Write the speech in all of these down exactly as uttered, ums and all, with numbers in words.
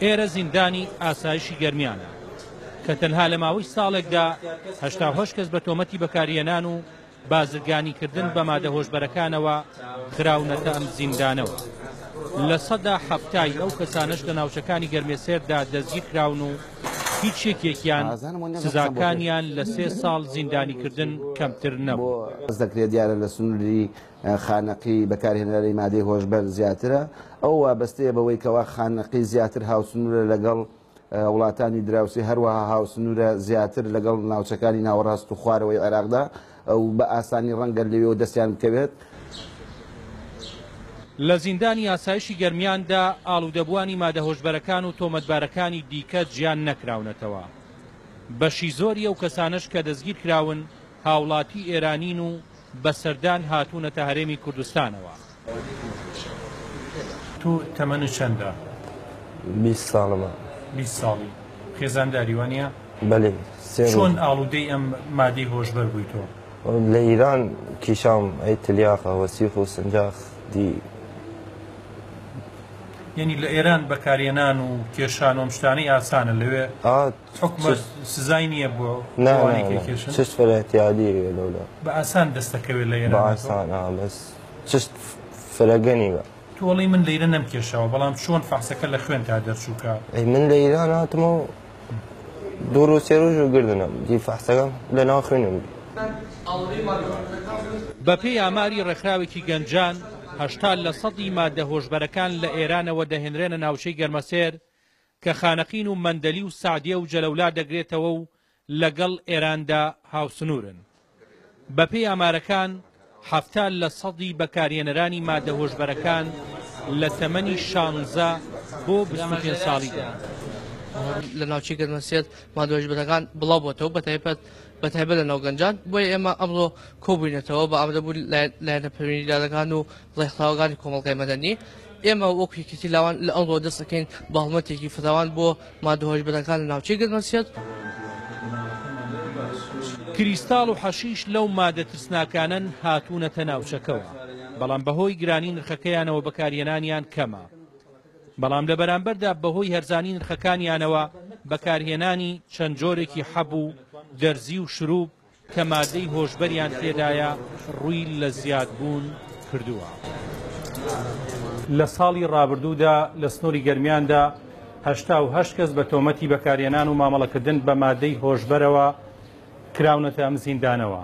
ئێرە زیندانی ئاسایشی گەرمیانە کە تەنها لە ماوەی ساڵێکدا هەشتا و هەشت کەس بە تۆمەتی بەکارهێنان و بازرگانیکردن بە مادە هۆشبەرەکانەوە خراونەتە ئەم زیندانەوە. لە سەدا حەفتای ئەو کەسانەش لە ناوچەکانی گەرمێسێردا دەستگیرکراون و هیچ یەکێکیان سزاکانیان لە سێ ساڵ زیندانیکردن کەمتر نەبوو. دەکرێت دیارە لە سنووری خانەقی بەکارهێنەری مادەی هۆشبەر زیاترە، ئەو وابەستەیە بەوەی کەوا خانەقی زیاتر هاوسنوورە لەگەڵ وڵاتانی دراوسی، هەروەها هاوسنوورە زیاتر لەگەڵ ناوچەکانی ناوەڕاست و خوارەوەی عێراقدا و بە ئاسانی ڕەنگە لەوێوە دەستیان بکەوێت. لە زیندانی ئاسایشی گەرمیاندا ئاڵوودەبووانی مادە هۆشبەرەکان و تۆمەتبارەکانی دیکە جیان نەکراونەتەوە. بەشی زۆری ئەو کەسانەش کە دەستگیر کراون هاوڵاتی ئێرانین و بە سەردان هاتوونەتە هەرێمی کوردستانەوە. تو تەمەنت چەندە؟ بیست ساڵمە. بیست ساڵی. خێزانداری وانە؟ بەێ. چۆن ئاڵوودەی ئەم مادەی هۆشبەر بووی تۆ؟ لە ئیران کیشام ئەی تلیاقە وەسیخ و سنجاخ دی. یعنی لە ئێران بەکارهێنان و کێشان و ئەم شتانەی ئاسانە، لەوێ حکومە سزای نییە بۆ ئەوانەی کە کێشن؟ چشت فرە اعتیادیە لەولا. بە ئاسان دەستەکەوێت لە ئێران؟ بە ئاسان، بەس چشت فرەگەنی بە. تۆ ئەڵێی من لەیرە نەمکێشاوە، بەڵام چۆن فەحسەکە لە خوێنتا دەرچووکە؟ ئەی من لە ئێران هاتمەوە دوو ڕۆژ سێ ڕۆژ و گردنم دی فەحسەکەم لە ناو خوێنم. بەپێی ئاماری ڕێکخراوێکی گەنجان هەشتا لە سەدی مادە هۆشبەرەکان لە ئێرانەوە دەهێنرێنە ناوچەی گەرمەسێر کە خانەقین و مەندەلی و سعدیە و جەلەولا دەگرێتەوە و لەگەڵ ئێراندا هاوسنوورن. بەپێی ئامارەکان حەفتا لە سەدی بەکارهێنەرانی مادە هۆشبەرەکان لە تەمەنی شانزە بۆ بیست و پێنج ساڵیدا. لە ناوچەی گەرمەسێر مادە هۆشبەرەکان بڵاو بۆتەوە، بەتایبەت بەتایبەت لە ناو گەنجان. بۆیە ئێمە ئەمڕۆ کۆبووینەتەوە بە ئامادەبوون لایەنە پەیوەندیدارەکان و ڕێکخراوەکانی کۆمەڵگای مەدەنی. ئێمە وەکو یەکێتی لاوان لە ئەمڕۆ دەست دەکەین بە هەڵمەتێکی فراوان بۆ مادە هۆشبەرەکان لە ناوچەی گەرمەسێر. کریستاڵ و حەشیش لەو مادە ترسناکانن هاتوونەتە ناوچەکەوە، بەڵام بەهۆی گرانی نرخەکەیانەوە بەکارهێنانیان کەمە. بەڵام لە بەرامبەردا بەهۆی هەرزانی نرخەکانیانەوە بەکارهێنانی چەند جۆرێکی حەب و دەرزی و شروب کە مادەی هۆشبەریان تێدایە ڕووی لە زیادبوون کردووە. لە ساڵی ڕابردوودا لە سنووری گەرمیاندا هەشتا و هەشت کەس بە تۆمەتی بەکارهێنان و مامەڵەکردن بە مادەی هۆشبەرەوە کراونەتە ئەم زیندانەوە.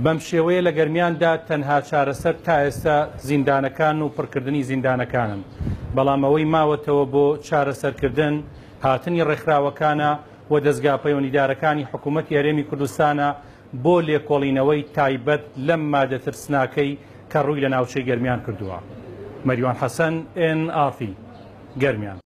بەم شێوەیە لە گەرمیاندا تەنها چارەسەر تا ئێستا زیندانەکان و پڕکردنی زیندانەکانن، بەڵام ئەوەی ماوەتەوە بۆ چارەسەرکردن هاتنی ڕێکخراوەکانە و دەستگا پەیوەندیدارەکانی حکوومەتی هەرێمی کوردستانە بۆ لێکۆڵینەوەی تایبەت لەم مادە ترسناکەی کە ڕووی لە ناوچەی گەرمیان کردووە. مەریوان حەسەن، ئێن ئاڕ تی، گەرمیان.